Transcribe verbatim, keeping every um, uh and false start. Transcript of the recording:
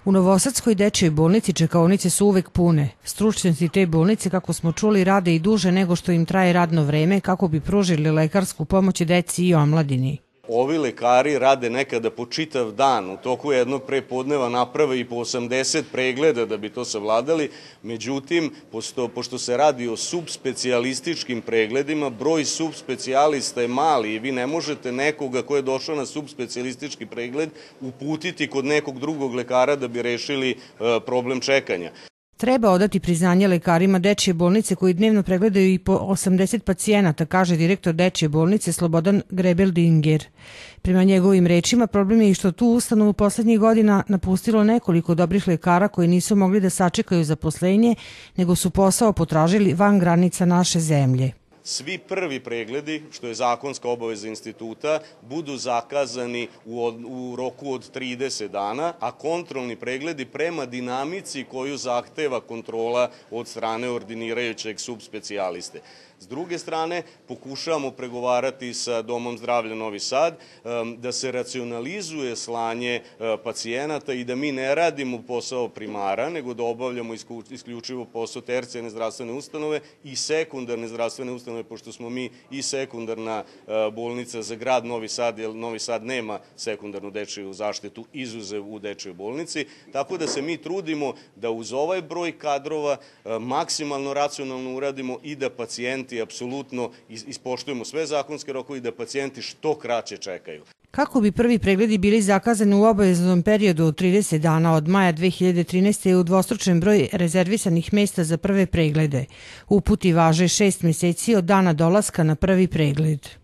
U Novosadskoj dečjoj bolnici čekaonice su uvek pune. Stručnjaci te bolnice, kako smo čuli, rade i duže nego što im traje radno vreme kako bi pružili lekarsku pomoć deci i omladini. Ovi lekari rade nekada po čitav dan, u toku jednog prepodneva naprave i po osamdeset pregleda da bi to savladali, međutim, posto, pošto se radi o subspecijalističkim pregledima, broj subspecijalista je mali i vi ne možete nekoga ko je došao na subspecijalistički pregled uputiti kod nekog drugog lekara da bi rešili e, problem čekanja. Treba odati priznanje lekarima dečje bolnice koji dnevno pregledaju i po osamdeset pacijenata, kaže direktor dečje bolnice Slobodan Grebeldinger. Prema njegovim rečima, problem je i što tu ustanovu poslednjih godina napustilo nekoliko dobrih lekara koji nisu mogli da sačekaju zaposlenje, nego su posao potražili van granica naše zemlje. Svi prvi pregledi, što je zakonska obaveza instituta, budu zakazani u, od, u roku od trideset dana, a kontrolni pregledi prema dinamici koju zahteva kontrola od strane ordinirajućeg subspecijaliste. S druge strane, pokušavamo pregovarati sa Domom zdravlja Novi Sad da se racionalizuje slanje pacijenata i da mi ne radimo posao primara, nego da obavljamo isključivo posao tercijarne zdravstvene ustanove i sekundarne zdravstvene ustanove, pošto smo mi i sekundarna bolnica za grad Novi Sad, jer Novi Sad nema sekundarnu dečiju zaštitu izuzev u dečjoj bolnici, tako da se mi trudimo da uz ovaj broj kadrova maksimalno racionalno uradimo i da pacijenti apsolutno ispoštujemo sve zakonske rokove i da pacijenti što kraće čekaju. Kako bi prvi pregledi bili zakazani u obaveznom periodu od trideset dana od maja dve hiljade trinaeste. je udvostručen broj rezervisanih mesta za prve preglede. Uputi važe šest meseci od dana dolaska na prvi pregled.